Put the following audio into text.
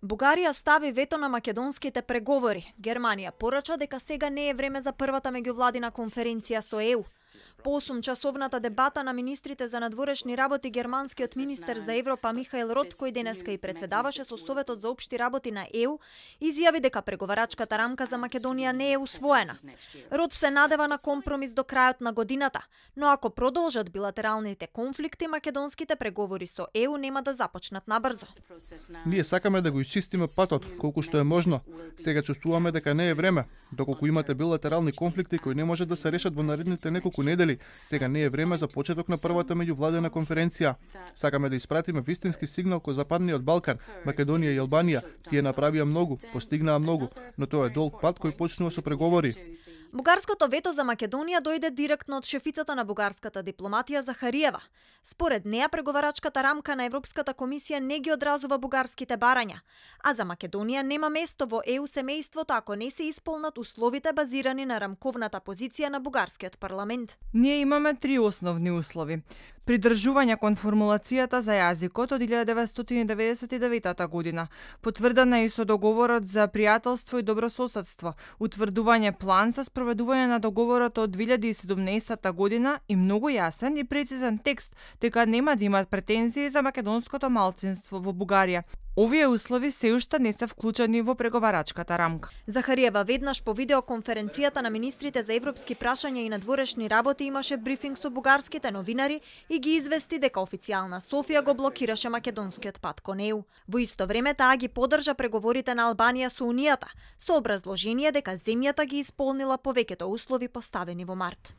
Бугарија стави вето на македонските преговори. Германија порача дека сега не е време за првата меѓувладина конференција со ЕУ. По 8-часовната дебата на министрите за надворешни работи, германскиот министер за Европа Михаел Рот, кој денеска и председаваше со Советот за општи работи на ЕУ, изјави дека преговарачката рамка за Македонија не е усвоена. Рот се надева на компромис до крајот на годината, но ако продолжат билатералните конфликти, македонските преговори со ЕУ нема да започнат набрзо. Ние сакаме да го исчистиме патот, колку што е можно. Сега чувствуваме дека не е време. Доколку имате билатерални конфликти кои не може да се решат во наредните неколку недели, сега не е време за почеток на првата меѓувладена конференција. Сакаме да испратиме вистински сигнал кој Западниот Балкан, Македонија и Албанија. Тие направија многу, постигнаа многу, но тоа е долг пат кој почнува со преговори. Бугарското вето за Македонија дојде директно од шефицата на бугарската дипломатија Захариева. Според неа, преговарачката рамка на Европската комисија не ги одразува бугарските барања, а за Македонија нема место во ЕУ семејството ако не се исполнат условите базирани на рамковната позиција на бугарскиот парламент. Ние имаме три основни услови. Придржување кон формулацијата за јазикот од 1999 година, потврдена и со договорот за пријателство и добрососедство, утврдување план за спроведување на договорот од 2017 година и многу јасен и прецизен текст дека нема да имат претензии за македонското малцинство во Бугарија. Овие услови се уште не се вклучени во преговарачката рамка. Захариева веднаш по видеоконференцијата на министрите за европски прашања и надворешни работи имаше брифинг со бугарските новинари и ги извести дека официјална Софија го блокираше македонскиот пат кон ЕУ. Во исто време таа ги поддржа преговорите на Албанија со Унијата, со образложение дека земјата ги исполнила повеќето услови поставени во март.